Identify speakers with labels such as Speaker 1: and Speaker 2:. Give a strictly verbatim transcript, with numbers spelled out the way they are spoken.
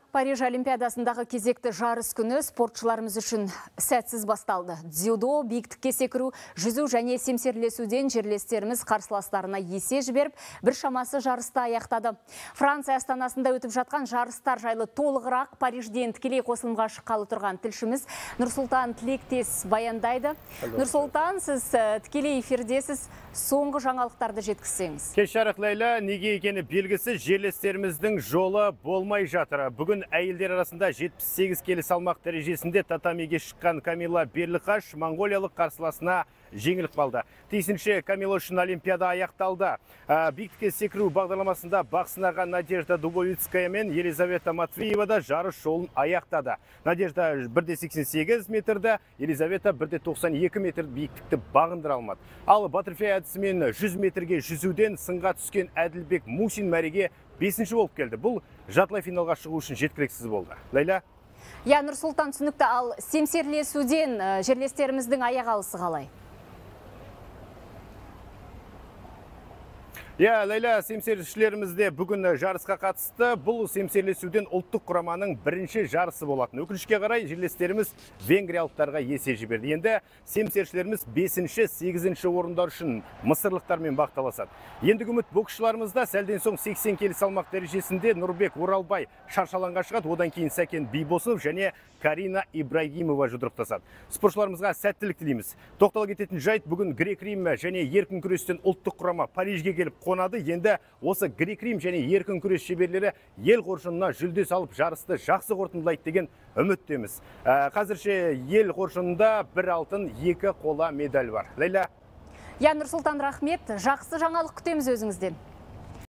Speaker 1: Париж Олимпиадасындағы кезекті жарыс күні спортшыларымыз үшін сәтсіз басталды. Дзюдо, биіктікке секіру, жүзу және семсерлесуден жерлестеріміз қарсыластарына есе жіберіп, бір шамасы жарысты аяқтады. Франция астанасында өтіп жатқан жарыстар жайлы толығырақ Парижден тікелей қосылымға шыққалы тұрған тілшіміз Нұрсұлтан Тілектес баяндайды. Нұрсұлтан, сіз тікелей эфирдесіз, соңғы жаңалықтарды жеткізсеңіз.
Speaker 2: Кеш жарық, Лейла, неге екені белгісіз, жерлестеріміздің жолы болмай жатыр. Бүгін әйелдер арасында жетпіс сегіз келі салмақ дәрежесінде татамиге шыққан Камила Берліқаш моңғолиялық қарсыласына жеңіліп қалды. Тиісінше Камила үшін Олимпиада аяқталды. Биіктікке секіру бағдарламасында бақ сынаған Надежда Дубовицкая мен Елизавета Матвеева да жарыс жолын аяқтады. Надежда бір де сексен сегіз метрді, Елизавета бір де тоқсан екі метр биіктікті бағындыра алмады. Ал баттерфляй әдісімен жүз метрге жүзуден сынға түскен Әділбек Мусин мәреге бесінші болып келді. Бұл жартылай финалға шығу үшін жеткіліксіз болды. Лейла?
Speaker 1: Я, Нұрсұлтан, түсінікті. Ал семсерлесуден жерлестеріміздің аяқ алысы қалай?
Speaker 2: Я, Лейла, семсерлесушілерімізде бүгін жарысқа қатысты. Бұл семсерлесуден ұлттық құраманың бірінші жарысы болатын. Өкінішке қарай жерлестеріміз венгриялықтарға есе жіберді. Енді семсерлесушілеріміз бесінші, сегізінші орындар үшін мысырлықтармен бақталасады. Ендігі үміт боксшыларымызда сәлден соң сексен келі салмақ дәрежесінде Нұрбек Оралбай шаршалаңға шығады. Одан кейін Сәкен Бейбосов және Карина Ибрагимова жұдырықтасады. Спортшыларымызға сәттілік тілейміз. Тоқтала кететін жайт, бүгін грек-рим және еркін күрестен ұлттық құрама Парижге келіп қонады. Енді осы грек-рим және еркін күрес шеберлері ел қоржынына жүлде салып жарысты жақсы қорытындылайды деген үміттеміз. Қазірше ел қоржынында бір алтын, екі қола медаль бар. Лейла?
Speaker 1: Я, Нұрсұлтан, рахмет. Жақсы жаңалық күтеміз өзіңізден.